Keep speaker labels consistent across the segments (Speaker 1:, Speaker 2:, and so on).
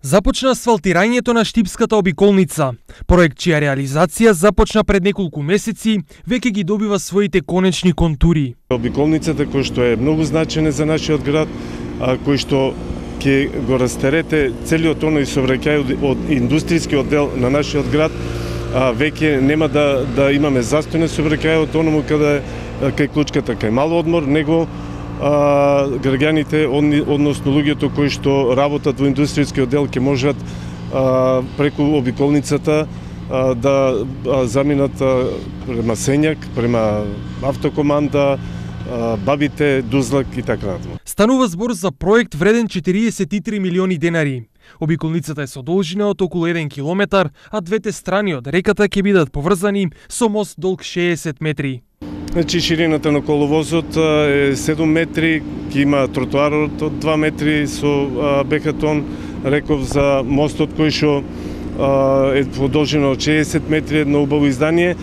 Speaker 1: Започна асфалтирањето на Штипската обиколница. Проект чија реализација започна пред неколку месеци, веќе ги добива своите конечни контури.
Speaker 2: Обиколницата која што е многу значена за нашиот град, кој што ќе го растерете целиот оној сообраќај од индустријскиот дел на нашиот град, веќе нема да имаме застој на сообраќајот оному каде кај Клучката, кај Мал одмор, него граѓаните, односно луѓето кои што работат во индустријскиот дел ќе можат преку обиколницата да заминат према Сењак, према Автокоманда, Бабите, Дузлак и така натаму.
Speaker 1: Станува збор за проект вреден 43 милиони денари. Обиколницата е со должина од околу 1 километар, а двете страни од реката ќе бидат поврзани со мост долг 60 метри.
Speaker 2: Значи, ширината на коловозот е 7 метри, ќе има тротоарот од 2 метри со бекатон, реков за мостот кој што е во должина од 60 метри, едно убаво издание.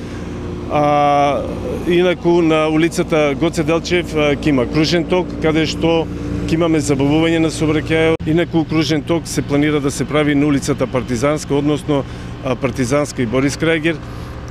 Speaker 2: Инаку на улицата Гоце Делчев ќе има кружен ток, каде што ќе имаме забавување на сообраќајот. Инаку кружен ток се планира да се прави на улицата Партизанска, односно Партизанска и Борис Крајгер,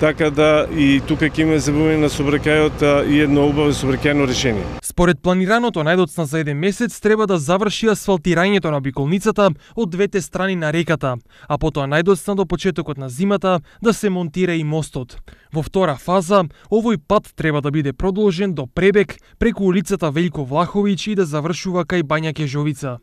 Speaker 2: така да и тука ќе имаме забавување на сообраќајот и едно убаво сообраќајно решение.
Speaker 1: Според планираното, најдоцна за 1 месец треба да заврши асфалтирањето на обиколницата од двете страни на реката, а потоа најдоцна до почетокот на зимата да се монтира и мостот. Во втора фаза, овој пат треба да биде продолжен до Пребег преку улицата Велјко Влаховиќ и да завршува кај Бања Кежовица.